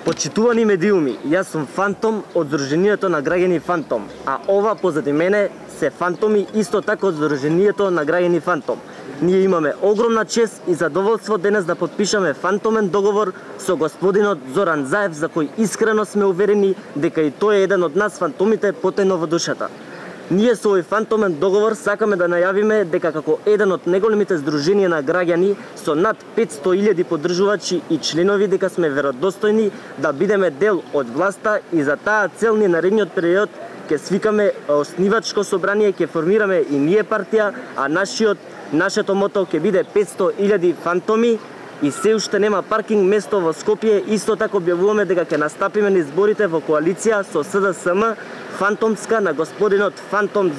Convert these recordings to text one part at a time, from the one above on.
Почитувани медиуми, јас сум Фантом од Сдруженијето на граѓани Фантом, а ова позади мене се фантоми исто така од Сдруженијето на граѓани Фантом. Ние имаме огромна чест и задоволство денес да подпишаме фантомен договор со господинот Зоран Заев, за кој искрено сме уверени дека и тој е еден од нас фантомите потајно во душата. Ние со овој фантомен договор сакаме да најавиме дека како еден од најголемите здруженија на граѓани со над 500.000 поддржувачи и членови дека сме веродостојни да бидеме дел од власта и за таа цел ни наредниот период ќе свикаме оснивачко собрание, ќе формираме и ние партија, а нашето мото ќе биде 500.000 фантоми и се уште нема паркинг место во Скопје. Исто така објавуваме дека ќе настапиме на изборите во коалиција со СДСМ фантомска на господинот Фантом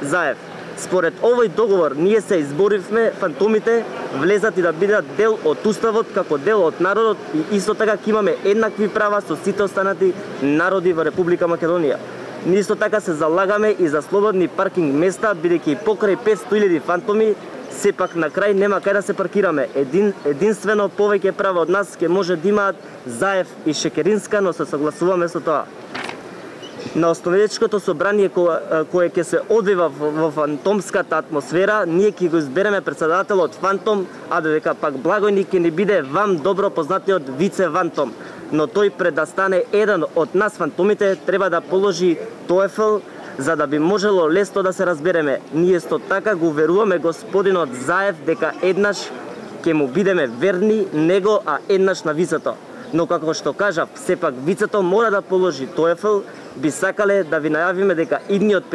Заев. Според овој договор ние се изборивме фантомите влезат и да бидат дел од уставот како дел од народот и исто така ќе имаме еднакви права со сите останати народи во Република Македонија. Ние исто така се залагаме и за слободни паркинг места, бидејќи покрај 500.000 фантоми сепак на крај нема кај да се паркираме. Единствено повеќе права од нас ќе може да имаат Заев и Шекеринска, но се согласуваме со тоа. На основечкото собрание кое ќе се одвива во фантомската атмосфера, ние ќе го избереме председателот Фантом, а додека пак благојник ќе ни биде вам добро познатиот Вице Фантом. Но тој пред да стане еден од нас фантомите треба да положи TOEFL за да би можело лесно да се разбереме. Ние исто така го уверуваме господинот Заев дека еднаш ќе му бидеме верни него, а еднаш на вицето. Но како што кажав, сепак вицето мора да положи TOEFL. Би сакале да ви најавиме дека идниот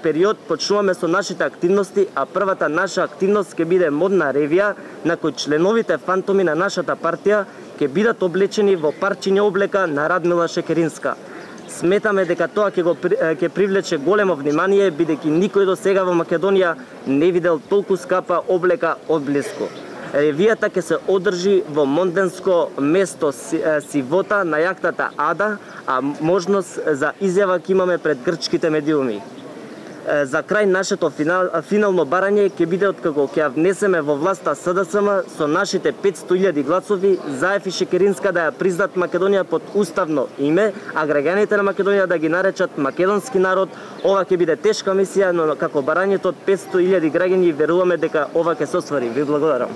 период почнуваме со нашите активности, а првата наша активност ќе биде модна ревија на кој членовите фантоми на нашата партија ќе бидат облечени во парчиња облека на Радмила Шекеринска. Сметаме дека тоа ќе привлече големо внимание, бидејќи никој до сега во Македонија не видел толку скапа облека од блиску. Ревијата ќе се одржи во Монденско место Сивота на јахтата Ада, а можност за изјава ќе имаме пред грчките медиуми. За крај нашето финално барање ќе биде откако ќе ја внесеме во власта СДСМ со нашите 500.000 гласови, Заев и Шекеринска да ја признат Македонија под уставно име, а граѓаните на Македонија да ги наречат македонски народ. Ова ќе биде тешка мисија, но како барањето од 500.000 граѓани веруваме дека ова ќе се оствари. Ви благодарам.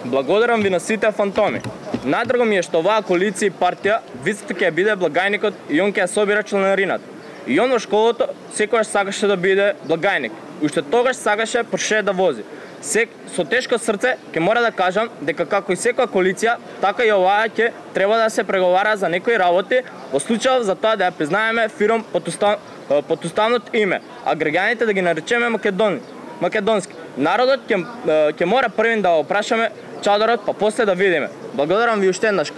Благодарам ви на сите фантоми. Најдраго ми е што оваа коалиција и партија вицето ќе биде благајникот и он ќе ја собира членарината. И он во школото секогаш сакаше да биде благајник. Уште тогаш сакаше Порше да вози. Со тешко срце ќе мора да кажам дека како и секоја коалиција, така и оваа ќе треба да се преговара за некои работи, во случај за тоа да ја признаеме фирм под уставното име, а граѓаните да ги наречеме македонски. Народот ќе мора првин да го прашаме чадорот, па после да видиме. Благодарам ви уште еднаш.